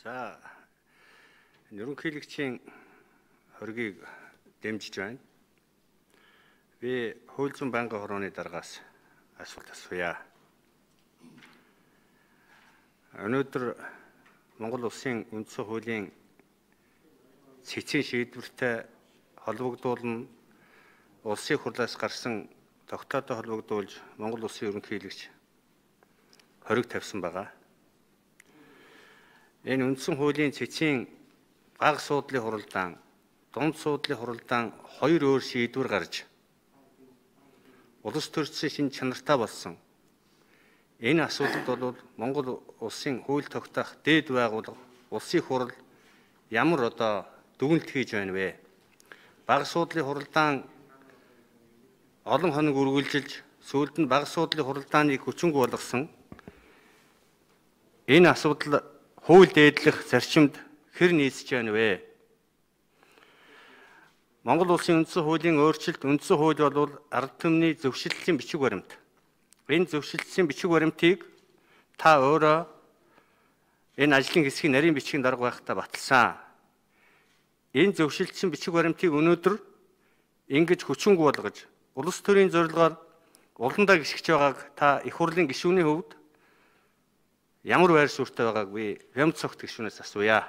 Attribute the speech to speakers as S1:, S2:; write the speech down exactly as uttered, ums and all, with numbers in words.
S1: За ерөнхийлөгчийн хоргийг дэмжиж байна. Би хууль зүйн байнгын хорооны даргаас асуулт асууя. Өнөөдөр Монгол Улсын үндсэн хуулийн цэцгийн шийдвэртэй холбогдуулна улсын хурлаас гарсан тогтоодоо холбогдуулж Монгол Улсын ерөнхийлөгч хориг тавьсан байгаа. Энэ үндсэн хуулийн цэцгийн гаг суудлын хуралдаан, дунд суудлын хуралдаан хоёр өөр шийдвэр гарч улс төрийн шинж чанартай болсон. Энэ асуудалд бол Монгол Улсын хууль тогтоох дээд байгууллага, улсын хурал ямар одоо дүгнэлт хийж байна вэ? Бага суудлын хуралдаан олон хоног үргэлжилж сүүлд нь бага суудлын хуралдааныг хүчингүй болгосон. Энэ асуудал хууль дээдлэх зарчимд хэр нийцэж байна вэ? Монгол Улсын үндсэн хуулийн өөрчлөлт үндсэн хууль бол ард түмний зөвшөөрлөлийн бичиг баримт. Энэ зөвшөөрлөлийн бичиг баримтыг та өөрөө энэ ажлын хэсгийн нарийн бичгийн дарга байхдаа баталсан. Энэ зөвшөөрлөлийн бичиг баримтыг өнөөдөр ингэж хүчингүй болгож улс төрийн зорилгоор уландаа гიშгэж байгааг та их хурлын гишүүний хувьд ямар байр суурьтай байгааг би Хямд цогт гишүүнээс асууя.